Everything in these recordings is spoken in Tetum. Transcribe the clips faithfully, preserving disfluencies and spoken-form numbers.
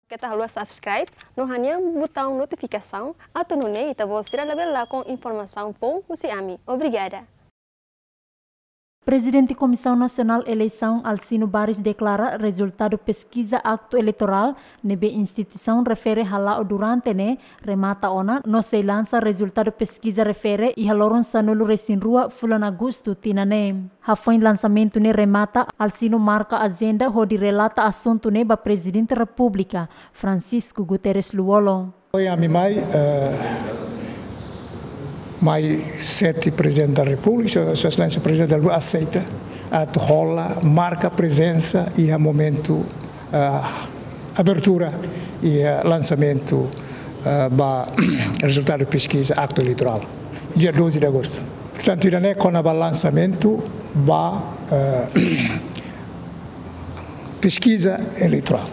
Keta haluha subscribe no hanehan butaun notifikasaun atu nune'e ita-boot sira labele lakon informasaun foun husi ami. Obrigada. Prezidente Komisaun Nasionál Eleisaun Alcino Baris deklara rezultadu peskiza aktu eleitorál ne'ebé instituisaun refere hala'o durante ne'e remata ona no sei lansa rezultadu peskiza refere iha loron sanulu-resin-rua fulan Agostu tinan ne'e. Hafoin lansamentu ne'e remata, Alcino marka ajenda hodi relata asuntu ne'e ba Prezidente Repúblika, Francisco Guterres Lú-Olo. Ohin ami mai, eh, mai sete Prezidente da Repúblika, Sua, Sua Exelénsia Prezidente da Repúblika aseita atu hola, marka prezensa iha momentu, eh, abertura iha, eh, lansamentu, eh, ba rezultadu peskiza aktu eleitorál, dia doze de agosto. Portantu, ida-ne'e kona-ba lansamentu ba, eh, peskiza eleitorál.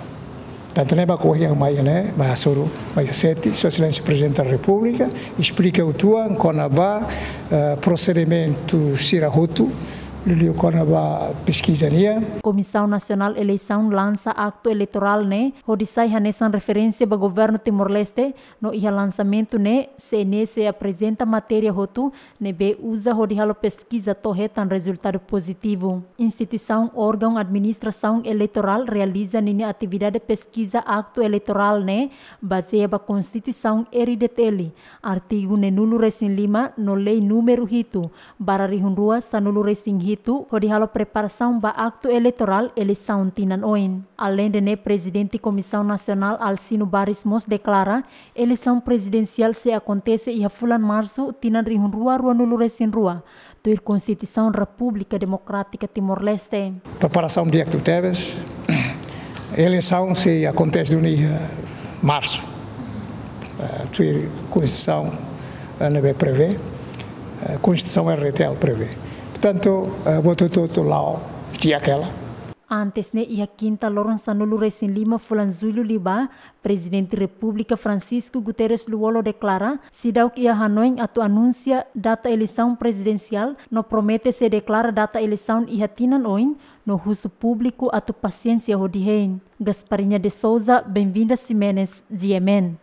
Tantu ne'e ba ohin mai ne'e, mai hasoru, mai sete, Sua Exelénsia Prezidente da Repúblika esplika uitoan kona-ba, eh, prosedimentu sira hotu, liuliu kona-ba peskiza nian. Komisaun Nasionál Eleisaun lansa aktu eleitorál ne'e hodi sai hanesan referénsia ba governu Timor-Leste, no iha lansamentu ne'e, C N E sei aprezenta matéria hotu ne'ebé uza hodi halo peskiza to'o hetan rezultadu pozitivu. Instituisaun órgaun administrasaun eleitorál realiza ninia atividade peskiza aktu eleitorál ne'e bazeia ba Konstituisaun R D T L, artigu neenulu-resin-lima no lei númeru hitu barra rihun rua sanulu-resin-hitu, hodi halo preparasaun ba aktu eleitorál eleisaun tinan oin. Aleinde ne'e, Prezidente Komisaun Nasionál Alcino Baris mós deklara eleisaun prezidensiál sei akontese iha fulan Marsu tinan rihun rua ruanulu-resin-rua, tuir Konstituisaun Repúblika Demokrátika Timor-Leste. Preparasaun di'ak tebes. Eleisaun sei akontese duni iha Marsu. Eh, tuir Konstituisaun, eh, ne'ebé prevee, eh, Konstituisaun R D T L prevee. Portantu, eh, buat hotu-hotu la'o di'ak hela. Antes ne'e, iha Kinta loron sanulu-resin-lima fulan Jullu liubá, Prezidente Repúblika Francisco Guterres Lú-Olo deklara, seidauk iha hanoin atu anunsia data eleisaun prezidensiál, no promete sei deklara data eleisaun iha tinan oin, no husu públiku atu pasiénsia hodi hein. Gasparinha de Souza, Benvinda Ximenes, G M N.